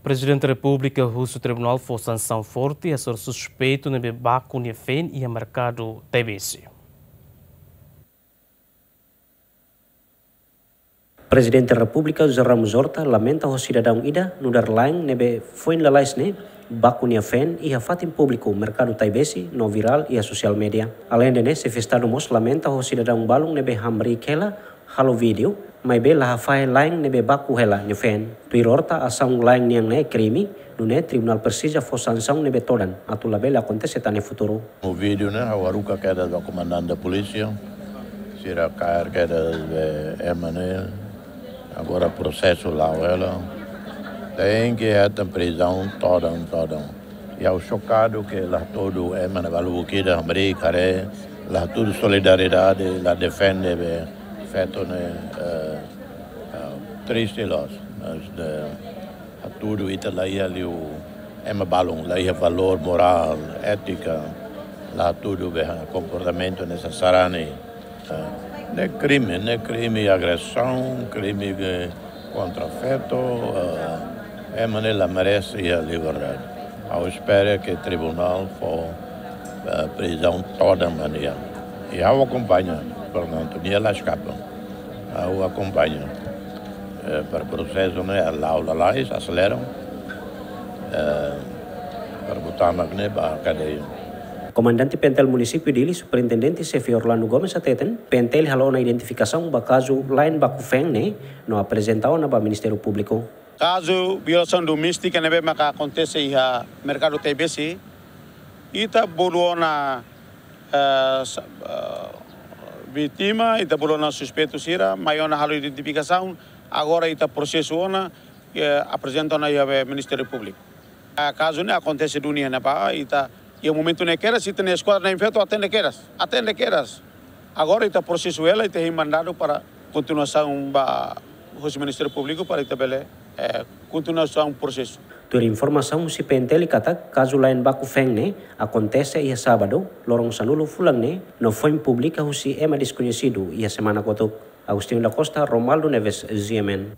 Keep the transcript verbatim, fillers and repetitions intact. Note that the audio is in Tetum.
Prezidente Repúblika husu Tribunál fó sansaun forte hasoru suspeitu ne'ebé baku nia feen iha merkadu Taibesi. Prezidente Repúblika José Ramos Horta lamenta ho sidadaun ida nu'udar la'en ne'ebé foin lalais ne'e baku nia feen iha fatin públiku merkadu Taibesi no virál iha sosiál média. Aleinde ne'e, Xefe Estadu mós lamenta ho sidadaun balun ne'ebé hamriik hela halo vídeo, maibé la hafahe la'en ne'ebé baku hela nia feen. Tuir Horta, asaun la'en nian ne'e krime, nune'e tribunál presiza fó sansaun ne'ebé todan atu labele akontese tan iha futuru. O vídeo ne'e ha'u haruka kedas ba komandante polísia, sira kaer kedas be ema ne'e, agora prosesu la'o hela. Tenke hetan prizaun todan, todan. I ha'u xokadu ke la hatudu ema ne'e balu kida hamriik haree, la hatudu solidariedade, la defende be feto ne'e, eh, eh, triste loos. Mas de, hatudu ita la iha liu ema balun, la iha valór morál, étika, la hatudu be komportamentu ne'e sarani. Eh, ne'e krime, ne'e krime agresaun, krime ke kontra feto, eh, ema ne'e la merese iha liberdade. Ha'u espera ke tribunál fó, eh, prizaun todan ba nia. I ha'u akompaña, portantu, nia la eskapa. Ha'u akompaña. Eh, para prosesu ne'e la'o lalais, aselera. Eh, para botar mak ne'e ba kadeia. Komandante PNTL Munisípiu Dili, Superintendente Xefe Orlando Gomes hateten, PNTL halo ona identifikasaun ba kazu la'en baku feen ne'e, no aprezenta ona ba Ministériu Públiku. Kazu violasaun doméstika ne'ebé maka akontese iha merkadu Taibesi, ita bolu ona, eh, sa-, eh, vítima, ita bolu ona suspeitu sira, mai ona halo identifikasaun, agora ita prosesu ona, eh, aprezenta ona iha be Ministériu Públiku. Ah, kazu ne'e akontese duni iha ne'ebá, ita, iha momentu ne'e kedas, ita-nia eskuadra na'in-feto atende kedas, atende kedas. Agora ita prosesu hela, ita hein mandadu para kontinuasaun ba husi Ministériu Públiku para ita bele, eh, kontinuasaun prosesu. Tuir informasaun husi PNTL katak, kazu la'en baku feen ne'e akontese iha sábadu, loron sanulu fulan ne'e, no foin publika husi ema deskoñesidu iha semana kotuk. Agostinho da Costa, Romualdo Neves, G M N.